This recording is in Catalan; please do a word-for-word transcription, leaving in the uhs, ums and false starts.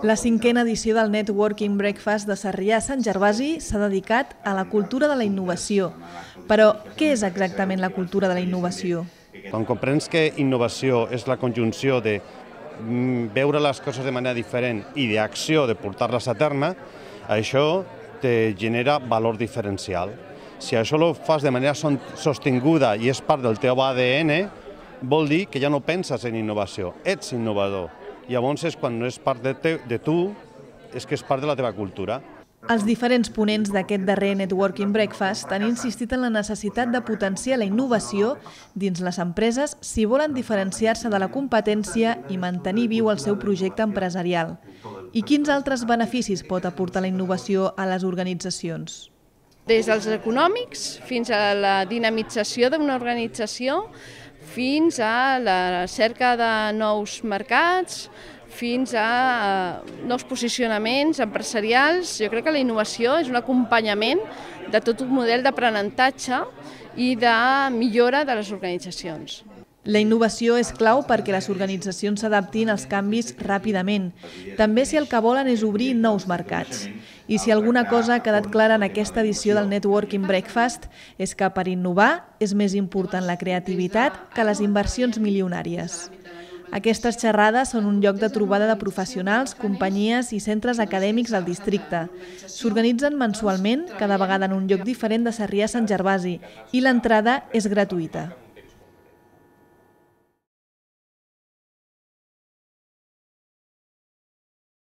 La cinquena edició del Networking Breakfast de Sarrià-Sant Gervasi s'ha dedicat a la cultura de la innovació. Però què és exactament la cultura de la innovació? Quan comprens que innovació és la conjunció de veure les coses de manera diferent i d'acció, de portar-les a terme, això te genera valor diferencial. Si això ho fas de manera sostinguda i és part del teu A D N, vol dir que ja no penses en innovació, ets innovador. Llavors és quan no és part de tu, és que és part de la teva cultura. Els diferents ponents d'aquest darrer Networking Breakfast han insistit en la necessitat de potenciar la innovació dins les empreses si volen diferenciar-se de la competència i mantenir viu el seu projecte empresarial. I quins altres beneficis pot aportar la innovació a les organitzacions? Des dels econòmics fins a la dinamització d'una organització, fins a la cerca de nous mercats, fins a nous posicionaments empresarials. Jo crec que la innovació és un acompanyament de tot un model d'aprenentatge i de millora de les organitzacions. La innovació és clau perquè les organitzacions s'adaptin als canvis ràpidament, també si el que volen és obrir nous mercats. I si alguna cosa ha quedat clara en aquesta edició del Networking Breakfast és que per innovar és més important la creativitat que les inversions milionàries. Aquestes xerrades són un lloc de trobada de professionals, companyies i centres acadèmics al districte. S'organitzen mensualment, cada vegada en un lloc diferent de Sarrià-Sant Gervasi, i l'entrada és gratuïta.